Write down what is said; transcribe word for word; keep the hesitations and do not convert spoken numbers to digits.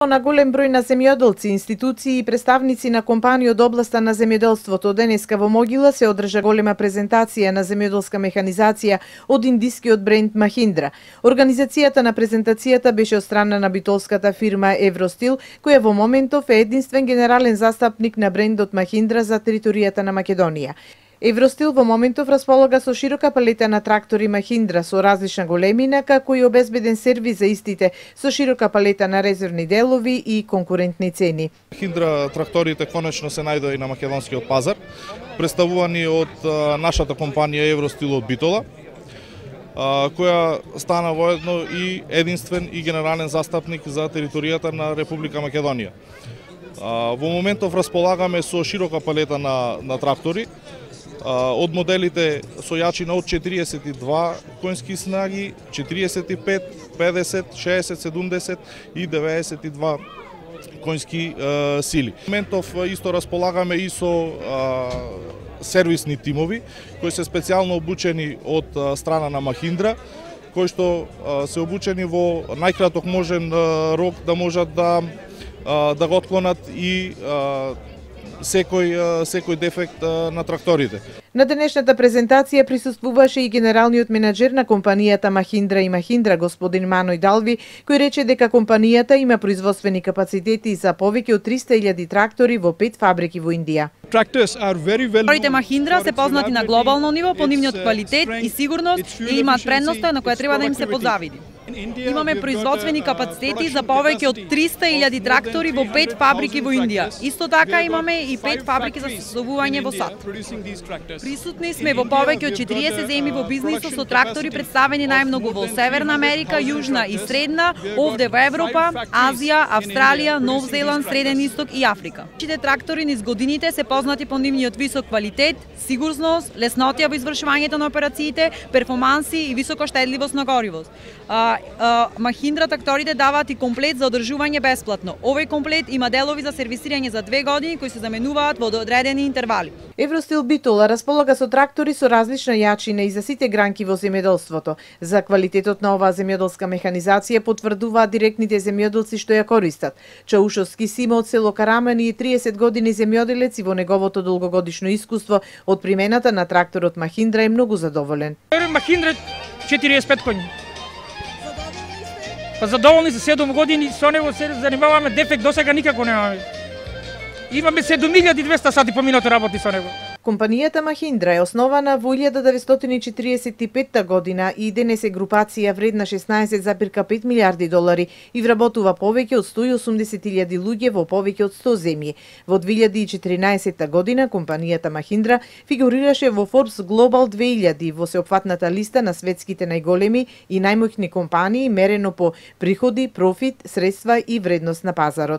На голем број на земјоделци, институции и представници на компании од областа на земјоделството денеска во Могила се одржа голема презентација на земјоделска механизација од индискиот бренд Mahindra. Организацијата на презентацијата беше од страна на битолската фирма Евростил, која во моментов е единствен генерален застапник на брендот Mahindra за територијата на Македонија. Евростил во моментов располага со широка палета на трактори Mahindra со различна големина, како и обезбеден сервис за истите со широка палета на резервни делови и конкурентни цени. Mahindra тракторите конечно се најдоа и на македонскиот пазар, представувани од нашата компанија Евростил од Битола, која стана воедно и единствен и генерален застапник за територијата на Република Македонија. Во моментов располагаме со широка палета на, на трактори, од моделите со јачина од четириесет и два коњски снаги, четириесет и пет, педесет, шеесет, седумдесет и деветдесет и два коњски е, сили. Во моментов исто располагаме и со е, сервисни тимови кои се специјално обучени од е, страна на Mahindra, кои што е, се обучени во најкраток можен е, рок да можат да е, да го отклонат и е, секој секој дефект на тракторите. На денешната презентација присуствуваше и генералниот менаџер на компанијата Mahindra и Mahindra, господин Маној Далви, кој рече дека компанијата има производствени капацитети за повеќе од триста илјади трактори во пет фабрики во Индија. Тракторите Mahindra се познати на глобално ниво по нивниот квалитет и сигурност и имаат предноста на која треба да им се позавиди. Имаме производствени капацитети за повеќе од триста илјади трактори во пет фабрики во Индија. Исто така имаме и пет фабрики за создавување во САД. Присутни сме во повеќе од четириесет земји во бизнисот со трактори представени најмногу во Северна Америка, Јужна и Средна, овде во Европа, Азија, Австралија, Нов Зеланд, Среден Исток и Африка. Нашите трактори низ годините се познати по нивниот висок квалитет, сигурност, леснотија во извршувањето на операциите, перформанси и висока штедливост на гориво. Mahindra тракторите даваат и комплет за одржување бесплатно. Овој комплет има делови за сервисирање за две години кои се заменуваат во одредени интервали. Евростил Битола располага со трактори со различна јачина и за сите гранки во земјоделството. За квалитетот на оваа земјоделска механизација потврдуваат директните земјоделци што ја користат. Чаушовски Симо од село Карамани е триесет години земјоделец и во неговото долгогодишно искуство од примената на тракторот Mahindra е многу задоволен. Mahindra четириесет и пет коњи. Па задоволни за седум години, со него се занимаваме, дефект досега никако немаме. Имаме седум илјади и двесте сати по минута работи со него. Компанијата Mahindra е основана во илјада деветстотини и четириесет и петта година и денес е групација вредна шеснаесет запирка пет милијарди долари и вработува повеќе од сто и осумдесет илјади луѓе во повеќе од сто земји. Во две илјади и четиринаесетта година компанијата Mahindra фигурираше во Forbes Global две илјади во сеопфатната листа на светските најголеми и најмоćни компании мерено по приходи, профит, средства и вредност на пазарот.